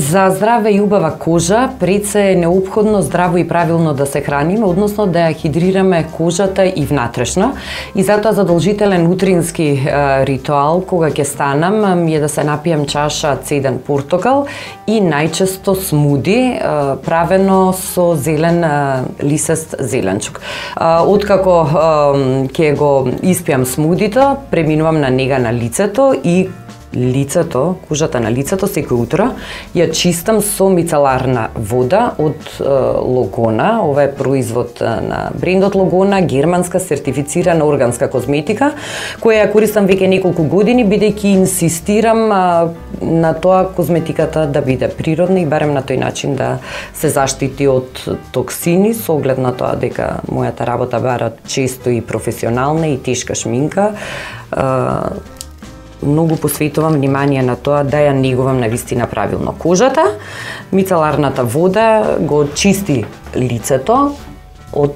За здрава и убава кожа, пред се е неопходно здраво и правилно да се храниме, односно да ја хидрираме кожата и внатрешно. И затоа задолжителен утрински ритуал, кога ќе станам, ми е да се напијам чаша цеден портокал и најчесто смуди, правено со зелен лисест зеленчук. Откако ќе го испијам смудито, преминувам на нега на лицето и лицето, кожата на лицето секој утро ја чистам со мицеларна вода од Логона. Ова е производ на брендот Логона, германска сертифицирана органска козметика, која ја користам веќе неколку години, бидејќи инсистирам на тоа козметиката да биде природна и барем на тој начин да се заштити од токсини, со оглед на тоа дека мојата работа бара често и професионална и тешка шминка. Многу посветувам внимание на тоа да ја негувам навистина правилно кожата. Мицеларната вода го чисти лицето од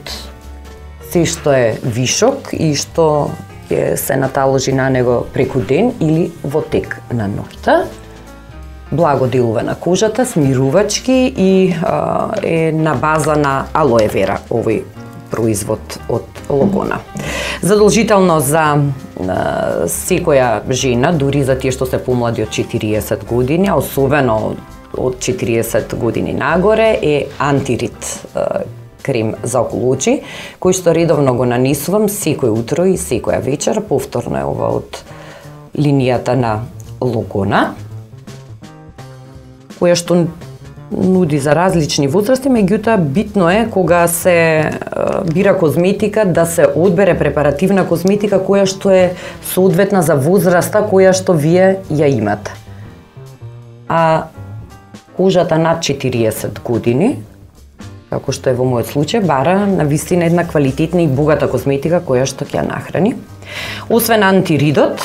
се што е вишок и што ќе се наталожи на него преку ден или во тек на ноќта. Благо делува на кожата, смирувачки и е на база на алоe вера овој производ од Логона. Задолжително за секоја жена, дури за тие што се помлади од 40 години, а особено од 40 години нагоре, е антирит крем за околу очи, кој што редовно го нанесувам секој утро и секоја вечер. Повторно е ова од линијата на Логона, која што нуди за различни возрасти, меѓутоа битно е кога се бира козметика да се одбере препаративна козметика која што е соодветна за возраста која што вие ја имате. А кожата над 40 години, како што е во мојот случај, бара навистина една квалитетна и богата козметика која што ќе ја нахрани. Освен антиридот,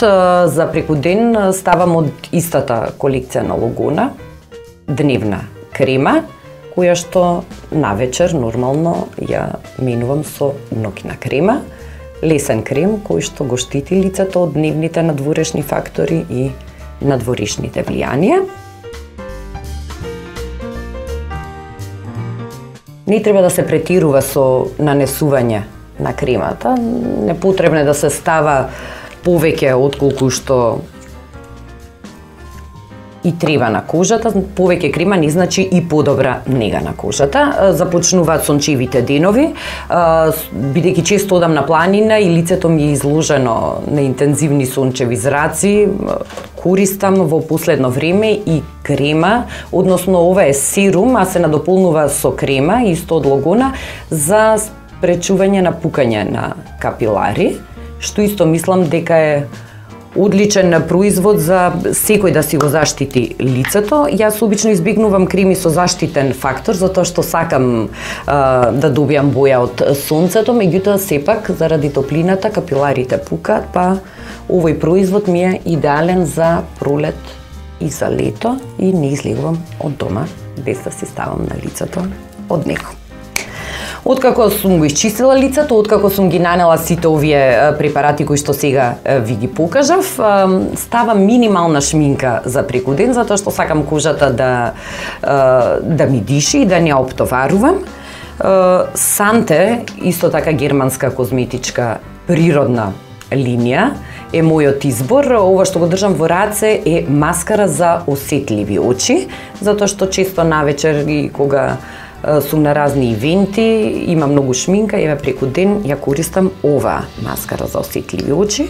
за преку ден ставам од истата колекција на Логона, дневна крема, која што навечер нормално ја менувам со ноќна крема, лесен крем кој што го штити лицето од дневните надворешни фактори и надворешните влијанија. Не треба да се претирува со нанесување на кремата, непотребно е да се става повеќе отколку што и треба на кожата. Повеќе крема не значи и подобра нега на кожата. Започнуваат сончевите денови, бидејќи често одам на планина и лицето ми е изложено на интензивни сончеви зраци, користам во последно време и крема, односно ова е серум, а се надополнува со крема, исто од Логона, за спречување на пукање на капилари, што исто мислам дека е одличен производ за секој да си го заштити лицето. Јас обично избегнувам креми со заштитен фактор, затоа што сакам да добијам боја од сонцето, меѓутоа сепак заради топлината капиларите пукаат, па овој производ ми е идеален за пролет и за лето и не излегувам од дома без да си ставам на лицето од него. Откако сум го исчистила лицето, откако сум ги нанела сите овие препарати кои што сега ви ги покажав, ставам минимална шминка за преку ден, затоа што сакам кожата да ми диши и да не ја оптоварувам. Санте, исто така германска козметичка природна линија, е мојот избор. Ова што го држам во раце е маскара за осетливи очи, затоа што често навечер и кога сум на разни ивенти, има многу шминка, еве преку ден ја користам ова маскара за осетливи очи.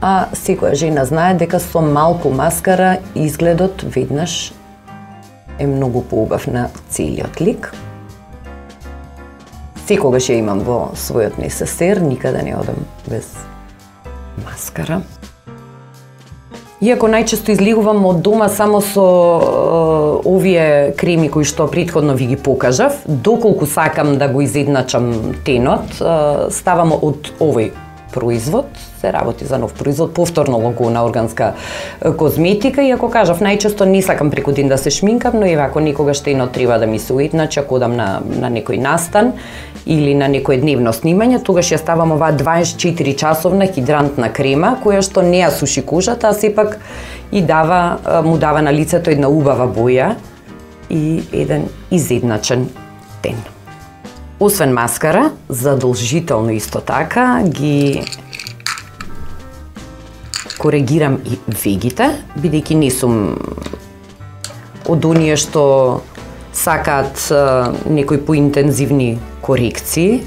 А секоја жена знае дека со малку маскара изгледот веднаш е многу поубав на целиот лик. Секогаш ја имам во својот несесер, никаде не одам без маскара. Иако најчесто излегувам од дома само со овие креми кои што претходно ви ги покажав, доколку сакам да го изедначам тенот, ставам од овој производ, се работи за нов производ, повторно лого на органска козметика, и ако кажав, најчесто не сакам преку ден да се шминкам, но еве ако некогаш штено треба да ми се уедначи, ако одам на некој настан или на некое дневно снимање, тогаш ја ставам оваа 24 часовна хидрантна крема, која што не ја суши кожата, а сепак и му дава на лицето една убава боја и еден изедначен тен. Освен маскара, задолжително исто така ги коригирам и вегите, бидејќи не сум од оние што сакаат некои поинтензивни корекции,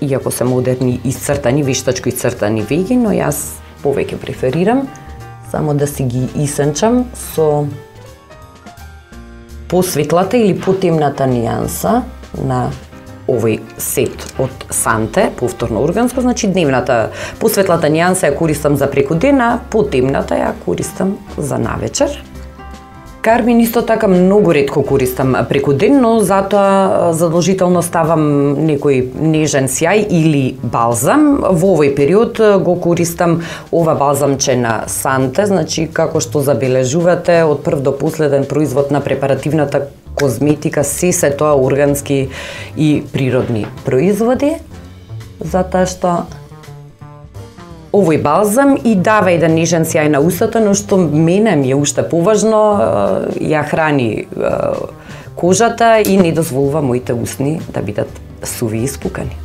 иако се модерни исцртани, вештачко исцртани веги, но јас повеќе преферирам само да си ги исенчам со посветлата или потемната нијанса на овој сет од Санте, повторно органско, значи дневната посветлата нијанса ја користам за преку ден, а потемната ја користам за навечер. Кармин исто така многу ретко користам преку ден, но затоа задолжително ставам некој нежен сјај или балзам. Во овој период го користам ова балзамче на Санте, значи како што забележувате, од прв до последен производ на препаративната козметика се тоа органски и природни производи, затоа што овој балзам и дава еден нежен сјај на устата, но што мене ми е уште поважно, ја храни кожата и не дозволува моите усни да бидат суви и спукани.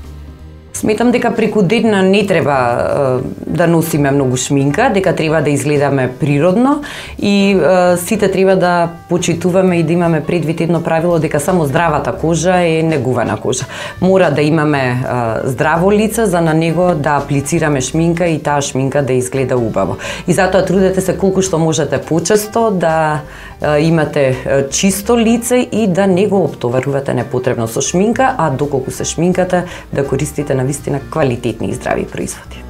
Сметам дека преку ден не треба да носиме многу шминка, дека треба да изгледаме природно и сите треба да почитуваме и да имаме предвид едно правило дека само здравата кожа е негувана кожа. Мора да имаме здраво лице за на него да аплицираме шминка и таа шминка да изгледа убаво. И затоа трудете се колку што можете почесто да имате чисто лице и да не го оптоварувате непотребно со шминка, а доколку се шминкате да користите навистина квалитетни и здрави производи.